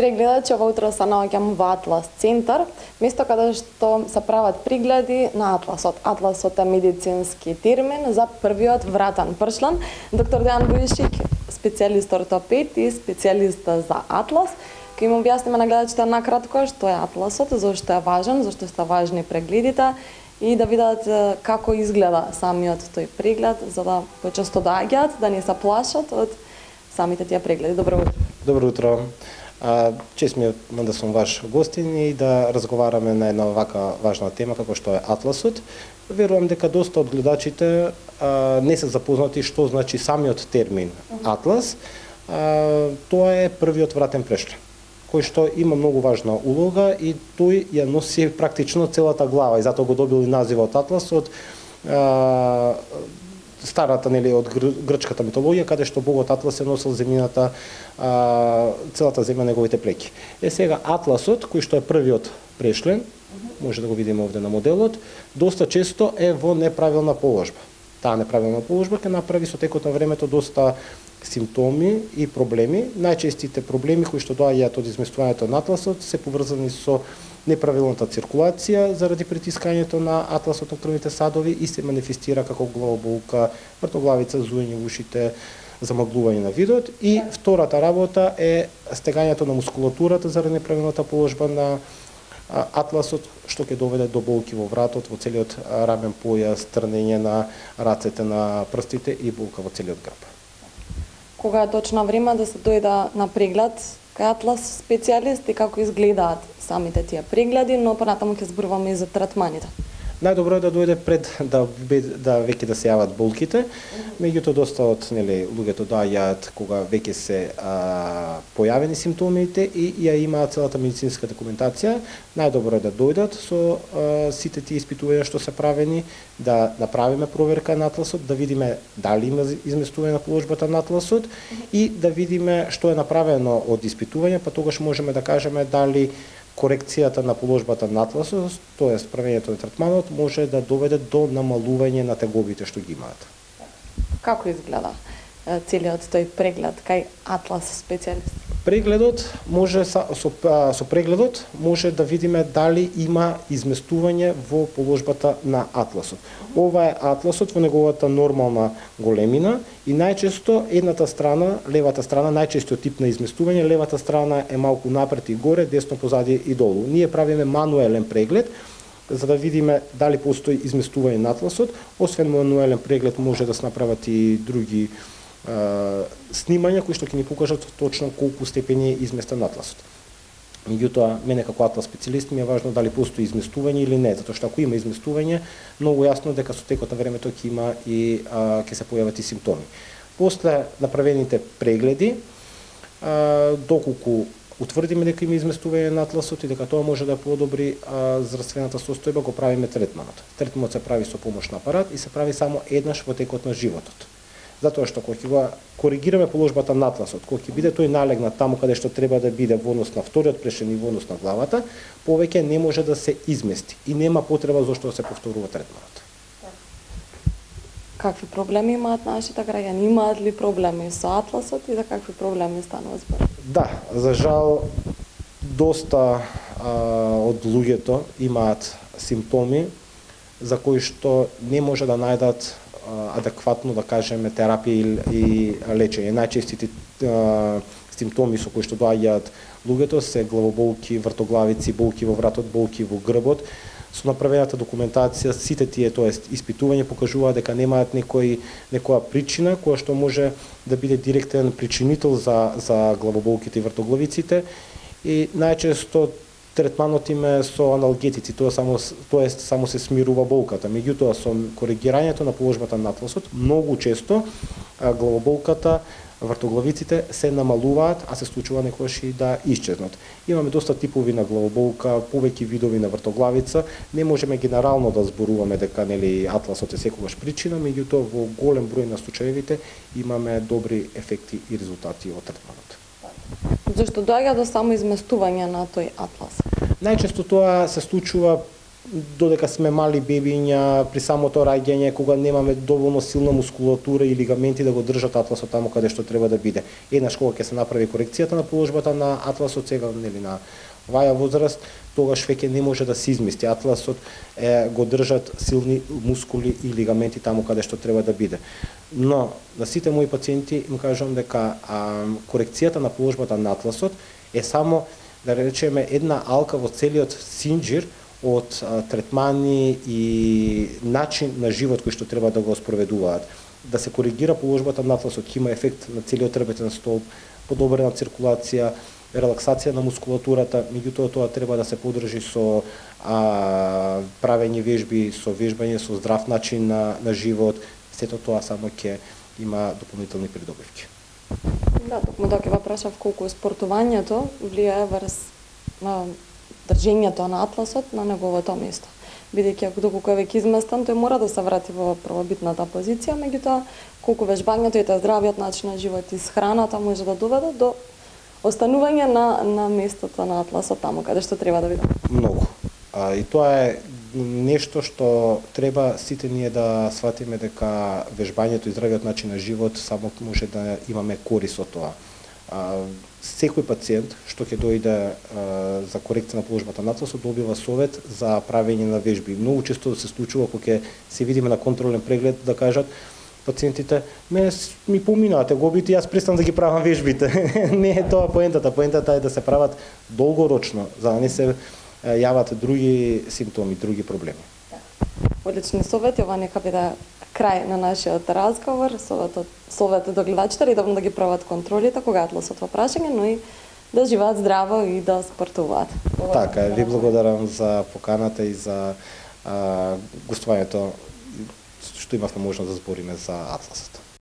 прегледот че ова утро се наоѓам во Атлас центар, место каде што се прават прегледи на атласот. Атласот е медицински термин за првиот вратен пршлен. Доктор Дејан Бујшик, специјалист ортопед и специјалист за атлас, ќе им објасниме на гледачите накратко што е атласот, зошто е важен, зошто се важни прегледите и да видат како изгледа самиот тој преглед, за да почесто доаѓаат, да не се плашат од самите тие прегледи. Добро утро. Добро утро. Чест ми е да сум ваш гостин и да разговараме на една вака важна тема како што е атласот. Верувам дека доста од гледачите не се запознати што значи самиот термин атлас. Тоа е првиот вратен прешлен, кој што има многу важна улога и тој ја носи практично целата глава и затоа го добил и називот атлас од старата, нели, од грчката митологија, каде што богот Атлас се носил земјината, целата земја неговите плеки. Сега атласот, кој што е првиот прешлен, може да го видиме овде на моделот, доста често е во неправилна положба. Таа неправилна положба ќе направи со текот на времето доста симптоми и проблеми. Најчестите проблеми кои што доаѓаат од изместувањето на атласот се поврзани со неправилната циркулација заради притискањето на атласот на крвните садови и се манифестира како главоболка, вртоглавица, зуење во ушите, замаглување на видот. И втората работа е стегањето на мускулатурата заради неправилната положба на атласот, што ќе доведе до болки во вратот, во целиот рамен појас, трнење на рацете, на прстите и болка во целиот грб. Кога е точно време да се дојде на преглед кај атлас специјалист и како изгледаат самите тие прегледи, но понатаму ќе зборуваме и за третманите. Најдобро е да дојде пред да веќе да се јават болките, меѓутоа доста од луѓето доаѓаат кога веќе се појавени симптомите и ја имаат целата медицинска документација. Најдобро е да дојдат со сите тие испитувања што се правени, да направиме проверка на атласот, да видиме дали има изместување на положбата на атласот и да видиме што е направено од испитување, па тогаш можеме да кажеме дали корекцијата на положбата на атласот, тоест правењето на третманот, може да доведе до намалување на тегобите што ги имаат. Како изгледа целиот тој преглед кај атлас специјалист? Прегледот може со прегледот може да видиме дали има изместување во положбата на атласот. Ова е атласот во неговата нормална големина и најчесто едната страна, левата страна, најчестиот тип на изместување, левата страна е малку напред и горе, десно позади и долу. Ние правиме мануелен преглед за да видиме дали постои изместување на атласот. Освен мануелен преглед може да се направат и други снимања кои што ќе ни покажат точно колку степени е изместен атласот. Меѓутоа, мене како атлас специјалист ми е важно дали постои изместување или не, затоа што ако има изместување, многу јасно дека со текот на времето ќе има и ќе се појават и симптоми. После направените прегледи, доколку утврдиме дека има изместување на атласот и дека тоа може да подобри здравствената состојба, го правиме третманот. Третманот се прави со помош на апарат и се прави само еднаш во текот на животот. Затоа што кога ќе го коригираме положбата на атласот, кога ќе биде тој налегнат таму каде што треба да биде во однос на вториот прешлен и во однос на главата, повеќе не може да се измести и нема потреба зашто да се повторува третманот. Какви проблеми имаат нашите граѓани? Имаат ли проблеми со атласот и за какви проблеми станува збор? Да, за жал доста од луѓето имаат симптоми за кои што не може да најдат адекватно, да кажеме, терапија и лечење. Најчестите симптоми со кои што доаѓаат луѓето се главоболки, вртоглавици, болки во вратот, болки во грбот. Со направената документација, сите тие, тоест испитување покажуваат дека немаат некоја причина која што може да биде директен причинител за главоболките и вртоглавиците и најчесто третманот им е со аналгетици, само се смирува болката. Меѓутоа, со коригирањето на положбата на атласот, многу често главоболката, вртоглавиците се намалуваат, а се случува некогаш и да исчезнат. Имаме доста типови на главоболка, повеќе видови на вртоглавица. Не можеме генерално да зборуваме дека атласот е секогаш причина, меѓутоа во голем број на случаевите имаме добри ефекти и резултати од третманот. Зашто доаѓа до само изместување на тој атлас? Најчесто тоа се случува додека сме мали бебиња, при самото раѓање, кога немаме доволно силна мускулатура и лигаменти да го држат атласот таму каде што треба да биде. Еднаш кога ќе се направи корекцијата на положбата на атласот, сега нели на оваа возраст, тогаш веќе не може да се измести. Атласот го држат силни мускули и лигаменти таму каде што треба да биде. Но на сите мои пациенти им кажувам дека корекцијата на положбата на атласот е само, да речеме, една алка во целиот синџир од третмани и начин на живот кој што треба да го спроведуваат. Да се коригира положбата на атласот, ќе има ефект на целиот трпетен столб, подобрена циркулација, релаксација на мускулатурата, меѓутоа тоа треба да се подржи со правење вежби, со вежбање, со здрав начин на живот. Сето тоа само ќе има дополнителни придобивки. Да, токму тоа ќе прашав колку спортувањето влијае врз држењето на атласот на неговото место. Бидејќи доколку е веќе изместен, тој мора да се врати во првобитната позиција, меѓутоа колку вежбањето и здравиот начин на живот и храната може да доведе до останување на местото на атласот таму каде што треба да биде. Многу. И тоа е нешто што треба сите ние да сватиме, дека вежбањето и здравиот начин на живот само може да имаме корис од тоа. Секој пациент што ќе дојде за корекција на положбата на атласот добива совет за правење на вежби. Многу често се случува кога ќе се видиме на контролен преглед да кажат пациентите: ми поминаате гобите, јас престан да ги правам вежбите. Не е тоа поентата. Поентата е да се прават долгорочно, за да не се јават други симптоми, други проблеми. Одлични совети, ова нека биде крај на нашиот разговор. Совет до гледачите редовно да ги прават контролите кога атласот во прашање, но и да живеат здраво и да спортуваат. Така, ви благодарам за поканата и за гостувањето што имавме можност да збориме за атласот.